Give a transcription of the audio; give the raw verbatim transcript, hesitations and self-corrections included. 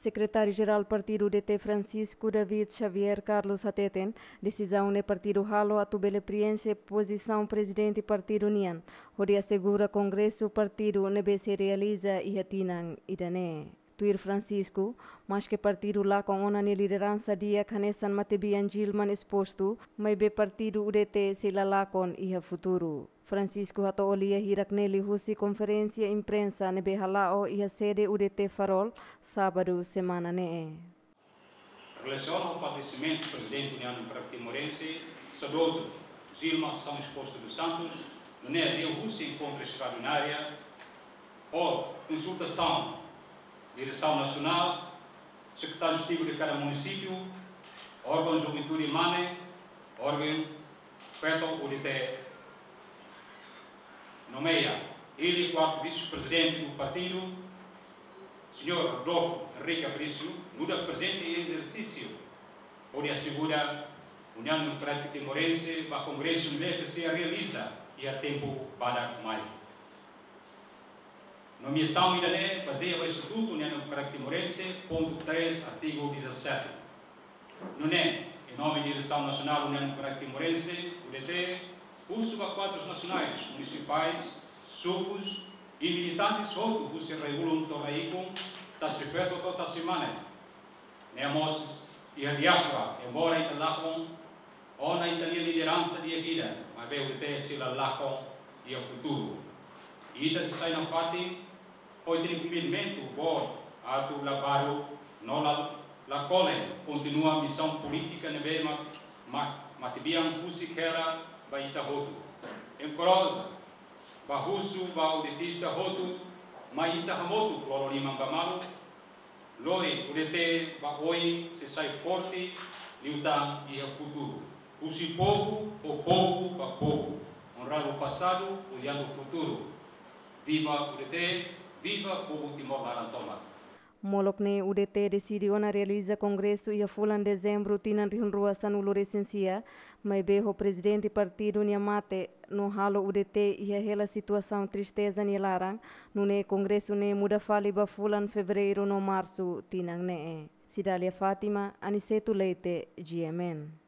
Sekretáriu-Jerál Partidu U D T Francisco David Xavier Carlos hateten, desizaun ne'e partidu halo atu bele prienxe pozisaun prezidente partidu nian, hodi asegura kongresu partidu ne'ebé sei realiza iha tinan ida-ne'e. Tuir Francisco, maske partidu lakon ona nia lideransa di'ak hanesan matebian Gilman espostu, maibé partidu U D T sei la lakon iha futuru. Francisco hato'o lia hirak ne'e liuhusi konferénsia imprensa ne'ebé hala'o iha sede U D T Farol, sábadu semana ne'e. Relasiona ho falesimentu Prezidente União Democrática Timorense, saudozu Gilman Assunção Exposto dos Santos, nune'e liuhusi enkontru estraordinária ho konsultasaun diresaun nasionál, sekretáriu ezekutivu de kada munisípiu, órgaun juventude MANE, órgaun feto U D T nomeia. Ele, kuartu vise-prezidente do partidu, señór Rodolfo Henrique Aparício, nu'udar prezidente em exercício, hodi asegura União Democrática Timorense ba kongresu ne'ebé sei realiza iha tempu badak mai. Nomeasaun ida-ne'e bazeia ba Estatutu União Democrática Timorense, pontu três, artigu dezassete. Nune'e, em nome Diresaun Nasionál União Democrática Timorense, U D T, husu ba kuadrus nasionais, munisipais, sukus i militantes hotu husi rai-ulun to'o rai-ikun, tasi feto to'o tasi mane, ne'e mós iha diáspora, embora ita lakon ona ita-nia lideransa di'ak ida, maibé U D T sei la lakon iha futuru. Ita sei sai nafatin ho ita-nia komprometimentu boot atu la baruk no la, la kole, kontinua misaun polítika ne'ebé ma, ma, matebian husik hela ba ita hotu. Enkoraja, ba husu ba U D Tista hotu, mai ita hamutuk lori liman ba malu, lori U D T ba oin sei sai forte liután iha futuru. Husi povu, ho povu, ba povu. Onrando o passado, olhando o futuro. Viva U D T, viva povu Timor laran tomak. Molok ne'e U D T deside ona realiza kongresu iha fulan Dezembru tinan rihun rua sanulu-resin-sia, maibé ho prezidente partidu nia mate, no halo U D T iha hela situasaun tristeza nia laran, nune'e kongresu ne'e muda fali ba fulan Fevereiru no Marsu tinan ne'e. Cidália Fátima, Aniceto Leite, G M N.